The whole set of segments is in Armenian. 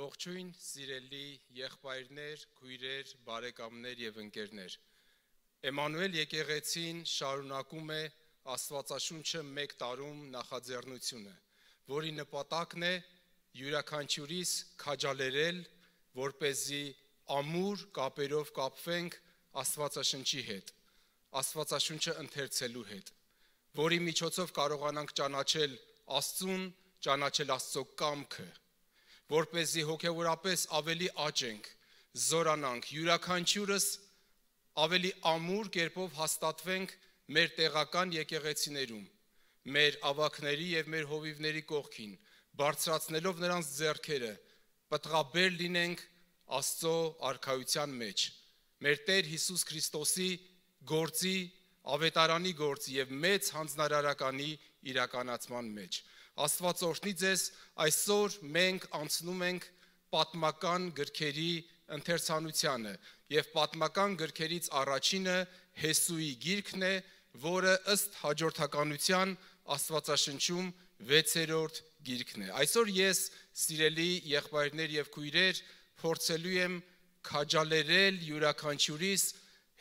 Ողջույն, սիրելի եղբայրներ, քույրեր, բարեկամներ եւ ընկերներ։ Էմանուել եկեղեցին շարունակում է Աստվածաշունչը մեկ տարում նախաձեռնությունը, որի նպատակն է յուրաքանչյուրիս քաջալերել, որպեսզի ամուր կապերով կապվենք Աստվածաշնչի հետ, Աստվածաշունչը ընթերցելու հետ, որի միջոցով կարողանանք ճանաչել Աստծուն, ճանաչել Աստծո կամքը, որպեսզի հոգևորապես ավելի աճենք, զորանանք, յուրաքանչյուրս ավելի ամուր կերպով հաստատվենք մեր տեղական եկեղեցիներում, մեր ավագների եւ մեր հովիվների կողքին, բարձրացնելով նրանց ձեռքերը, պտղաբեր լինենք Աստծո արքայության մեջ, մեր Տեր Հիսուս Քրիստոսի գործի, ավետարանի գործի եւ մեծ հանձնարարականի իրականացման մեջ։ Աստված օրհնի ձեզ, այսօր մենք անցնում ենք պատմական գրքերի ընթերցանությանը եւ պատմական գրքերից առաջինը Հեսուի գիրքն է, որը ըստ հաջորդականության Աստվածաշնչում 6-րդ գիրքն է։ Այսօր ես, սիրելի եղբայրներ եւ քույրեր, փորձելու եմ քաջալերել յուրաքանչյուրիս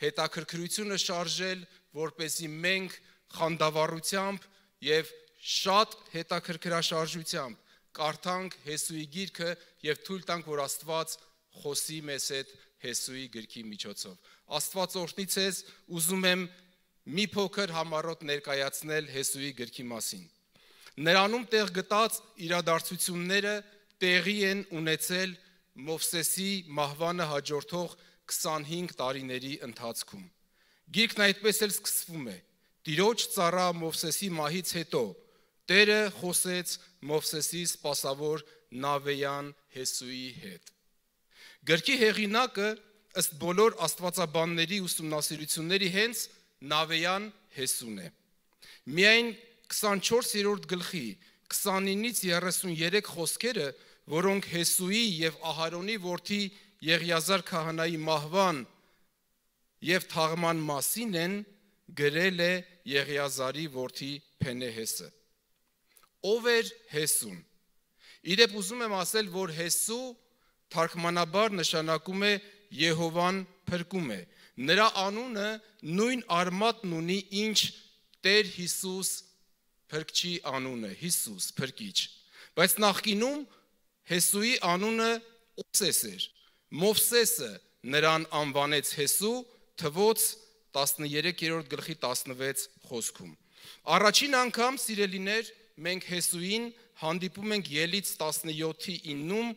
հետաքրքրությունը շարժել, որպեսզի մենք խանդավառությամբ եւ շատ հետաքրքրաշարժությամբ կարդանք Հեսուի գիրքը եւ թույլ տանք, որ Աստված խոսի մեզ հետ Հեսուի գրքի միջոցով։ Աստված օրհնի ձեզ, ուզում եմ մի փոքր համառոտ ներկայացնել Հեսուի գրքի մասին։ Նրանում տեղ գտած իրադարձությունները տեղի են ունեցել Մովսեսի մահվանը հաջորդող 25 տարիների ընթացքում։ Գիրքն այդպես էլ սկսվում է. Տիրոջ ծառա Մովսեսի մահից հետո Տերը խոսեց Մովսեսի սպասավոր Նավեյան Հեսուի հետ։ Գրքի հեղինակը ըստ բոլոր աստվածաբանների ուսումնասիրությունների հենց Նավեյան Հեսուն է։ Միայն 24-րդ գլխի 29-ից 33 խոսքերը, որոնք Հեսուի եւ Ահարոնի որդի Եղիազար քահանայի մահվան եւ թաղման մասին են, գրել է Եղիազարի որդի Փենեհեսը։ Ով էր Հեսուն։ Իդեպ ուզում եմ ասել, որ Հեսու թարգմանաբար նշանակում է Եհովան փրկում է։ Նրա անունը նույն արմատն ունի, ինչ Տեր Հիսուս փրկչի անունը, Հիսուս փրկիչ։ Բայց նախկինում Հեսուի անունը Մովսես էր։ Մովսեսը նրան անվանեց Հեսու, թվոց 13-րդ գլխի 16 խոսքում։ Առաջին անգամ, սիրելիներ, մենք Հեսուին հանդիպում ենք Ելից 17-ի 9-ում,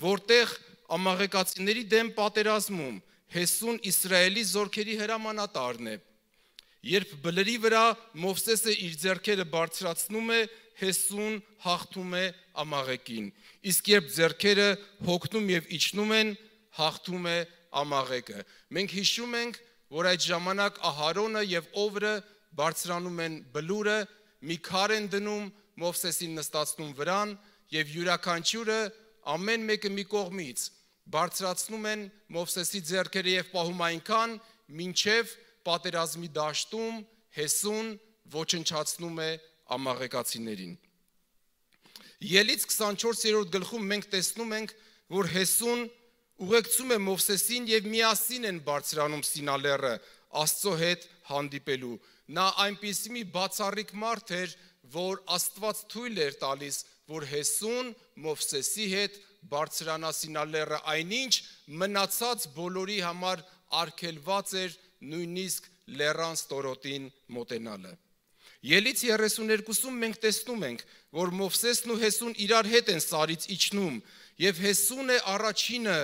որտեղ ամաղեկացիների դեմ պատերազմում Հեսուն Իսրայելի զորքերի հրամանատարն է։ Երբ բլրի վրա Մովսեսը իր ձեռքերը բարձրացնում է, Հեսուն հաղթում է ամաղեկին, իսկ երբ ձեռքերը հոգնում եւ իջնում են, հաղթում է ամաղեկը։ Մենք հիշում ենք, որ այդ ժամանակ Ահարոնը եւ Օվրը բարձրանում են բլուրը, մի քար են դնում, Մովսեսին նստացնում վրան եւ յուրաքանչյուրը ամեն մեկը մի կողմից բարձրացնում են Մովսեսի ձեռքերը եւ պահում այնքան, մինչեւ պատերազմի դաշտում Հեսուն ոչնչացնում է ամաղեկացիներին։ Ելից 24-րդ գլխում մենք տեսնում ենք, որ Հեսուն ուղեկցում է Մովսեսին եւ միասին են բարձրանում Սինա լեռը Աստծո հետ հանդիպելու։ Նա այնպիսի մի բացառիկ մարդ էր, որ Աստված թույլ էր տալիս, որ Հեսուն Մովսեսի հետ բարձրանա Սինա լեռը, այնինչ մնացած բոլորի համար արգելված էր նույնիսկ լեռան ստորոտին մոտենալը։ Ելից 32-ում մենք տեսնում ենք, որ Մովսեսն ու Հեսուն իրար հետ են սարից իջնում, եւ Հեսուն է առաջինը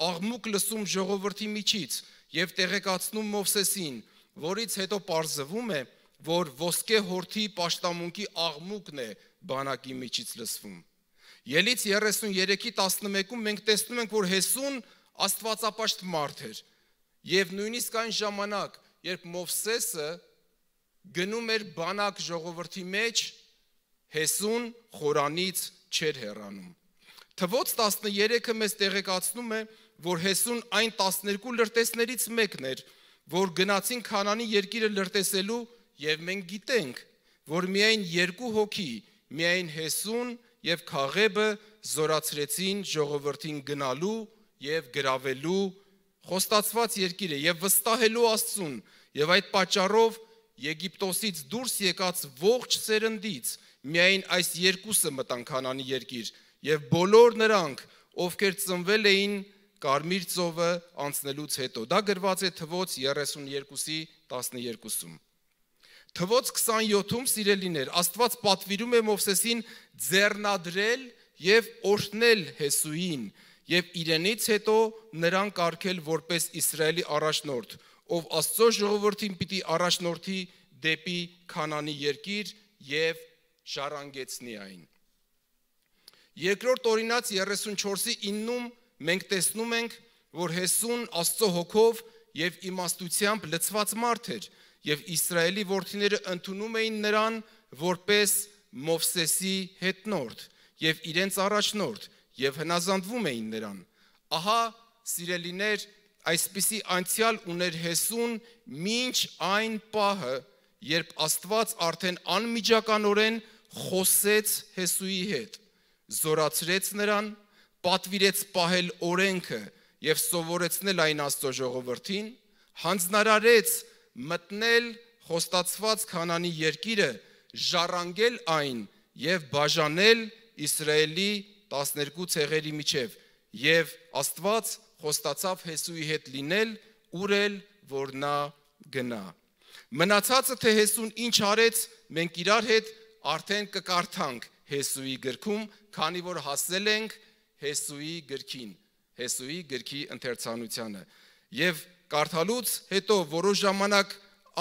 աղմուկ լսում ժողովրդի միջից եւ տեղեկացնում Մովսեսին, որից հետո պարզվում է, որ ոսկե հորթի պաշտամունքի աղմուկն է բանակի միջից լսվում։ Ելից 33-ի 11-ում մենք տեսնում ենք, որ Հեսուն աստվածապաշտ մարդ էր եւ նույնիսկ այն ժամանակ, երբ Մովսեսը գնում էր բանակ ժողովրդի մեջ, Հեսուն խորանից չէր հեռանում։ Թվոց 13-ը մեզ տեղեկացնում է, որ Հեսուն այն 12 լրտեսներից մեկն էր, որ գնացին Քանանի երկիրը լրտեսելու, եւ մենք գիտենք, որ միայն 2 հոգի, միայն Հեսուն եւ Քաղեբը զորացրեցին ժողովրդին գնալու եւ գրավելու խոստացված երկիրը եւ վստահելու Աստծուն, եւ այդ պատճառով Եգիպտոսից դուրս եկած ողջ սերնդից միայն այս երկուսը մտան Քանանի երկիր եւ բոլոր նրանք, ովքեր ծնվել էին Կարմիր ծովը անցնելուց հետո։ Դա գրված է Թվոց 32-ի 12-ում։ Թվոց 27-ում, սիրելիներ, Աստված պատվիրում է Մովսեսին ձեռնադրել եւ օրհնել Հեսուին եւ իրենից հետո նրան կարգել որպես Իսրայելի առաջնորդ, ով Աստծո ժողովրդին պիտի առաջնորդի դեպի Քանանի երկիր եւ ժառանգեցնի այն։ Երկրորդ Օրինաց 34-ի 9-ում մենք տեսնում ենք, որ Հեսուն Աստծո հոգով եւ իմաստությամբ լցված մարդ էր եւ Իսրայելի որդիները ընդունում էին նրան որպես Մովսեսի հետնորդ եւ իրենց առաջնորդ եւ հնազանդվում էին նրան։ Ահա, սիրելիներ, այսպիսի անցյալ ուներ Հեսուն մինչ այն պահը, երբ Աստված արդեն անմիջականորեն խոսեց Հեսուի հետ, զորացրեց նրան, պատվիրեց պահել օրենքը եւ սովորեցնել այն Աստծո ժողովրդին, հանձնարարեց մտնել խոստացված Քանանի երկիրը, ժառանգել այն եւ բաժանել Իսրայելի 12 ցեղերի միջև, եւ Աստված խոստացավ Հեսուի հետ լինել, ուր որ նա գնա։ Մնացածը թե Հեսուն ինչ արեց, մենք իրար հետ արդեն կկարդանք Հեսուի գրքում, քանի որ հասել ենք Հեսուի գրքին, Հեսուի գրքի ընթերցանությանը։ Եվ կարդալուց հետո որոշ ժամանակ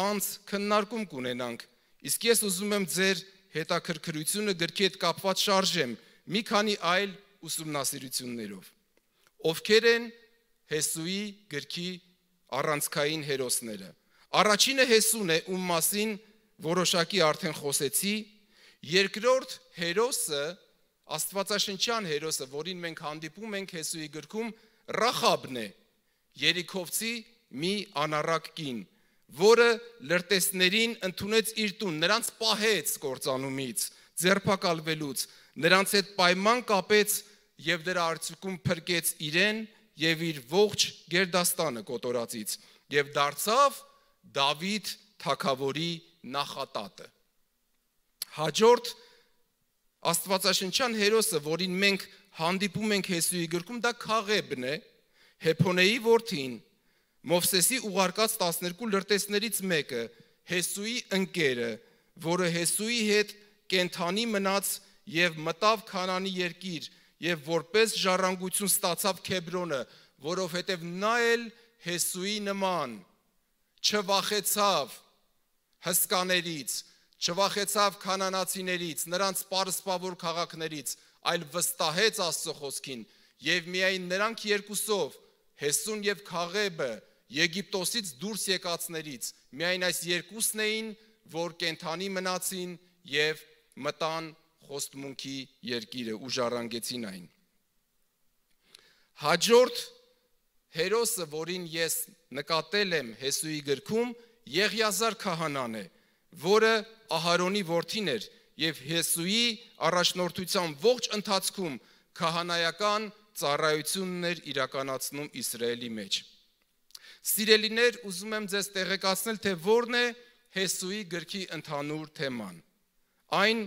անց քննարկում կունենանք, իսկ ես ուզում եմ ձեր հետաքրքրությունը գրքի հետ կապված շարժեմ մի քանի այլ ուսումնասիրություններով։ Ովքեր են Հեսուի գրքի առանցքային հերոսները։ Առաջինը Հեսուն է, ում մասին որոշակի արդեն խոսեցի։ Երկրորդ հերոսը, աստվածաշնչյան հերոսը, որին մենք հանդիպում ենք Հեսուի գրքում, Ռախաբն է, Երիքովցի մի անառակ կին, որը լրտեսներին ընդունեց իր տուն, նրանց պահեց կործանումից, ձերբակալվելուց, նրանց հետ պայման կապեց եւ դրա արդյունքում փրկեց իրեն եւ իր ողջ գերդաստանը կոտորածից եւ դարձավ Դավիթ թագավորի նախատատը։ Հաջորդ աստվածաշնչյան հերոսը, որին մենք հանդիպում ենք Հեսուի գրքում, դա Քաղեբն է, Հեփոնեի որդին, Մովսեսի ուղարկած 12 լրտեսներից մեկը, Հեսուի ընկերը, որը Հեսուի հետ կենթանի մնաց եւ մտավ Քանանի երկիր եւ որպես ժառանգություն ստացավ Քեբրոնը, որովհետեւ նա էլ Հեսուի նման չվախեցավ հսկաներից, չվախեցավ քանանացիներից, նրանց պարսպավոր քաղաքներից, այլ վստահեց Աստծո խոսքին եւ միայն նրանք երկուսով, Հեսուն եւ Քաղեբը, Եգիպտոսից դուրս եկածներից, միայն այս երկուսն էին, որ կենթանի մնացին եւ մտան խոստմունքի երկիրը ու ժառանգեցին այն։ Հաջորդ հերոսը, որին ես նկատել եմ Հեսուի գրքում, Եղիազար քահանան է, որը Ահարոնի որդին էր եւ Հեսուի առաջնորդության ողջ ընթացքում քահանայական ծառայությունն էր իրականացնում Իսրայելի մեջ։ Սիրելիներ, ուզում եմ ձեզ տեղեկացնել, թե որն է Հեսուի գրքի ընդհանուր թեման։ Այն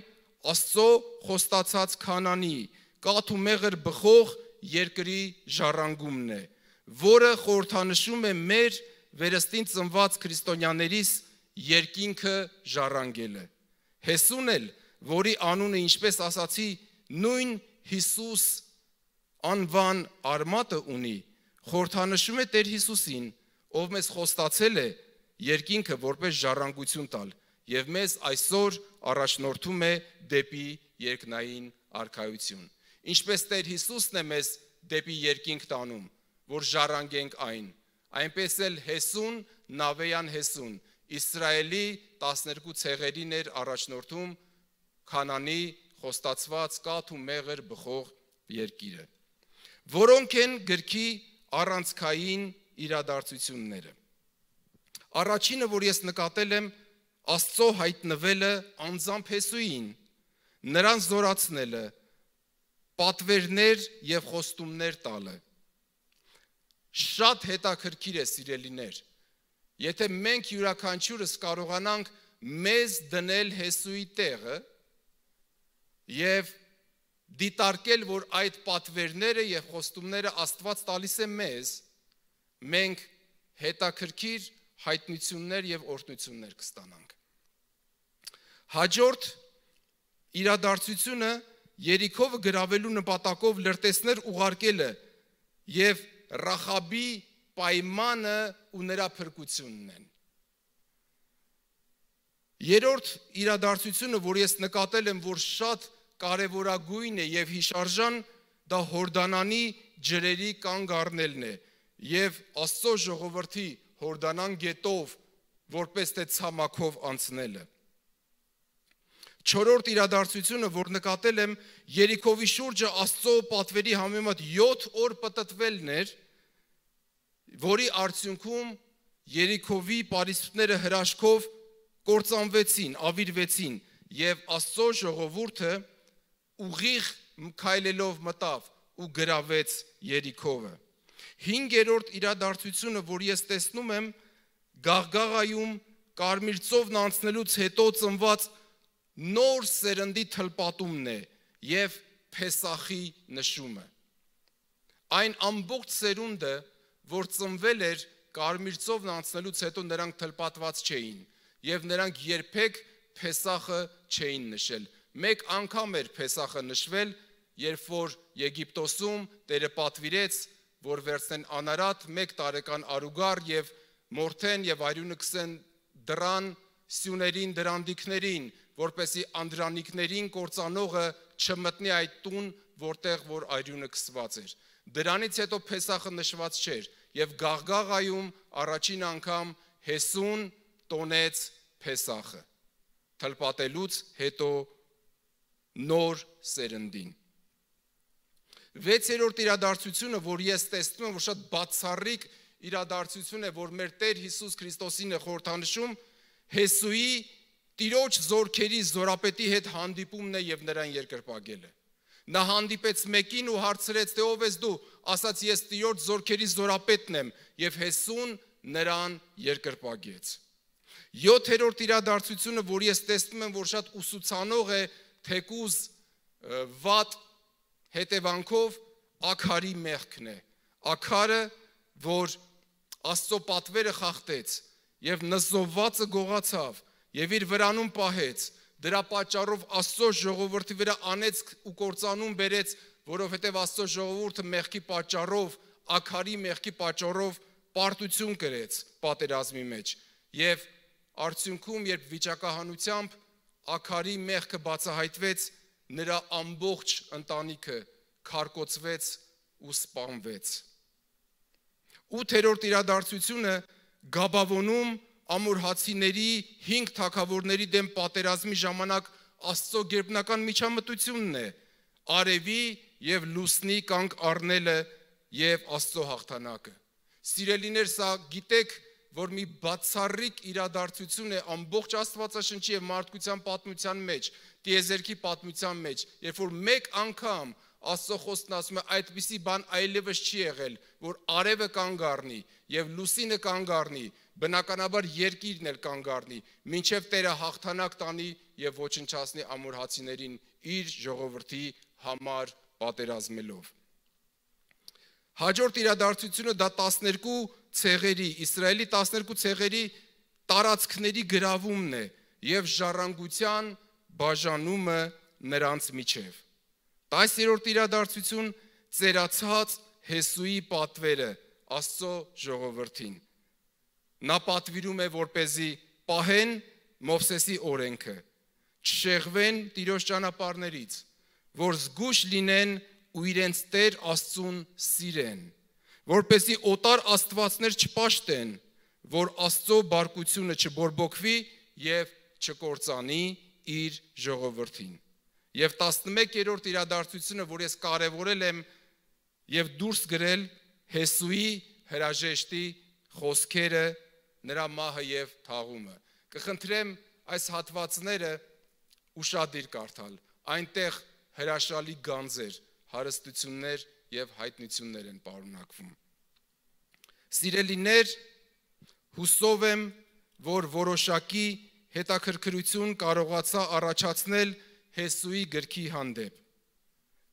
Աստծո խոստացած Քանանի, կաթ ու մեղր բխող երկրի ժառանգումն է, որը խորհրդանշում է մեր վերստին ծնված քրիստոնյաներիս երկինքը ժառանգելը։ Հեսուն էլ, որի անունը, ինչպես ասացի, նույն Հիսուս անվան արմատը ունի, խորհրդանշում է Տեր Հիսուսին, ով մեզ խոստացել է երկինքը որպես ժառանգություն տալ եւ մեզ այսօր առաջնորդում է դեպի երկնային արքայություն։ Ինչպես Տեր Հիսուսն է մեզ դեպի երկինք տանում, որ ժառանգենք այն, այնպես էլ Հեսուն, Նավեյան Հեսուն, Իսրայելի 12 ցեղերին էր առաջնորդում Քանանի խոստացված կաթ ու մեղր բխող երկիրը։ Որոնք են գրքի առանցքային իրադարձությունները։ Առաջինը, որ ես նկատել եմ, Աստծո հայտնվելը անձամբ Հեսուին, նրան զորացնելը, պատվերներ եւ խոստումներ տալը։ Շատ հետաքրքիր է, սիրելիներ, եթե մենք յուրաքանչյուրս կարողանանք մեզ դնել Հեսուի տեղը եւ դիտարկել, որ այդ պատվերները եւ խոստումները Աստված տալիս է մեզ, մենք հետաքրքիր հայտնություններ եւ օրհնություններ կստանանք։ Հաջորդ իրադարձությունը Երիքովը գրավելու նպատակով լրտեսներ ուղարկելը եւ Ռախաբի պայմանը ու նրա փրկությունն են։ Երրորդ իրադարձությունը, որ ես նկատել եմ, որ շատ կարևորագույն է եւ հիշարժան, դա Հորդանանի ջրերի կանգ առնելն է եւ Աստծո ժողովրդի Հորդանան գետով որպես թե ցամաքով անցնելը։ Չորրորդ իրադարձությունը, որ նկատել եմ, Երիքովի շուրջը Աստծո պատվերի համեմատ 7 օր պտտվելն էր, որի արդյունքում Երիքովի պարիսպները հրաշքով կործանվեցին, ավիրվեցին եւ Աստծո ժողովուրդը ուղիղ քայլելով մտավ ու գրավեց Երիքովը։ 5-րդ իրադարձությունը, որ ես տեսնում եմ, Գաղգաղայում կարմիր ծովն անցնելուց հետո ծնված նոր սերնդի թլպատումն է եւ Փեսախի նշումը։ Այն ամբողջ սերունդը, որ ծնվել էր կարմիր ծովն անցնելուց հետո, նրանք թլպատված չէին եւ նրանք երբեք Փեսախը չէին նշել։ Մեկ անգամ էր Փեսախը նշվել, երբ որ Եգիպտոսում Տերը պատվիրեց, որ վերցնեն անարատ 1 տարեկան արուգար եւ մորթեն եւ արյունը կսեն դրան սյուներին, դրանդիկներին, որպեսի անդրանիկներին կործանողը չմտնի այդ տուն, որտեղ որ արյունը կսված էր։ Դրանից հետո Փեսախը նշված չէր եւ Գաղգաղայում առաջին անգամ Հեսուն տոնեց Փեսախը, թլպատելուց հետո նոր սերնդին։ 6-րդ իրադարձությունը, որ ես տեսնում եմ, որ շատ բացառիկ իրադարձություն է, որ մեր Տեր Հիսուս Քրիստոսին է խորհրդանշում, Հեսուի Տիրոջ զորքերի զորապետի հետ հանդիպումն է եւ նրան երկրպագելը։ Նա հանդիպեց մեկին ու հարցրեց, թե ով ես դու, ասաց ես Տիրոջ զորքերի զորապետն եմ եւ Հեսուն նրան երկրպագեց։ 7-րդ իրադարձությունը, որ ես տեսնում եմ, որ շատ ուսուցանող է, թեկուզ վատ հետևանքով Աքարի մեղքն է։ Աքարը, որ Աստծո պատվերը խախտեց եւ նզովվածը գողացավ եւ իր վրանում պահեց, դրա պատճառով Աստծո ժողովրդի վրա անեծք ու կործանում բերեց, որովհետեւ Աստծո ժողովուրդը մեղքի պատճառով, Աքարի մեղքի պատճառով պարտություն կրեց պատերազմի մեջ եւ արդյունքում, երբ վիճակահանությամբ Աքարի մեղքը բացահայտվեց, նրա ամբողջ ընտանիքը քարկոծվեց ու սպանվեց։ 8-րդ իրադարձությունը Գաբավոնում ամորհացիների 5 թագավորների դեմ պատերազմի ժամանակ Աստծո գերբնական միջամտությունն է, արևի եւ լուսնի կանգ առնելը եւ Աստծո հաղթանակը։ Սիրելիներ, սա գիտեք, որ մի բացառիկ իրադարձություն է ամբողջ Աստվածաշնչի եւ մարդկության պատմության մեջ, տիեզերքի պատմության մեջ, երբ որ մեկ անգամ Աստծո խոսքն ասում է, այդպիսի բան այլևս չի եղել, որ արևը կանգ առնի եւ լուսինը կանգ առնի, բնականաբար երկիրն էլ կանգ առնի, մինչև Տերը հաղթանակ տանի եւ ոչնչացնի ամորհացիներին իր ժողովրդի համար պատերազմելով։ Հաջորդ իրադարձությունը դա 12 ցեղերի, Իսրայելի 12 ցեղերի տարածքների գրավումն է եւ ժառանգության բաժանումը նրանց միջև։ 10-րդ իրադարձություն ծերացած Հեսուի պատվերը Աստծո ժողովրդին։ Նա պատվիրում է, որպեսզի պահեն Մովսեսի օրենքը, չշեղվեն Տիրոջ ճանապարհներից, որ զգույշ լինեն ու իրենց Տեր Աստծուն սիրեն, որպեսզի օտար աստվածներ չպաշտեն, որ Աստծո բարկությունը չբորբոքվի եւ չկործանի իր ժողովրդին։ Եվ 11-րդ իրադարձությունը, որ ես կարևորել եմ եւ դուրս գրել Հեսուի հրաժեշտի խոսքերը, նրա մահը եւ թաղումը։ Կխնդրեմ այս հատվածները ուշադիր կարդալ։ Այնտեղ հրաշալի գանձեր, հարստություններ եւ հայտնություններ են պարունակվում։ Սիրելիներ, հուսով եմ, որ որոշակի հետաքրքրություն կարողացա առաջացնել Հեսուի գրքի հանդեպ։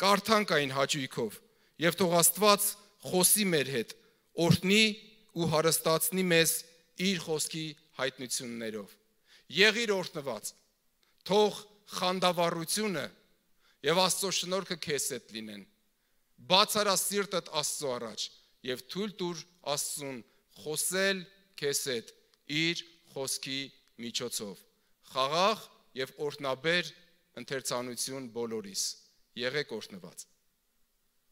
Կարդանք այն հաճույքով եւ թող Աստված խոսի մեր հետ, օրհնի ու հարստացնի մեզ իր խոսքի հայտնություններով։ Եղիր օրհնված, թող խանդավառությունը եւ Աստծո շնորհքը քեզ հետ լինեն։ Բացարա սիրտդ Աստծո առաջ եւ թույլ տուր Աստծուն խոսել քեզ հետ իր խոսքի միջոցով։ Խաղաղ եւ օրհնաբեր ընթերցանություն բոլորիս։ Եղեք օրհնված։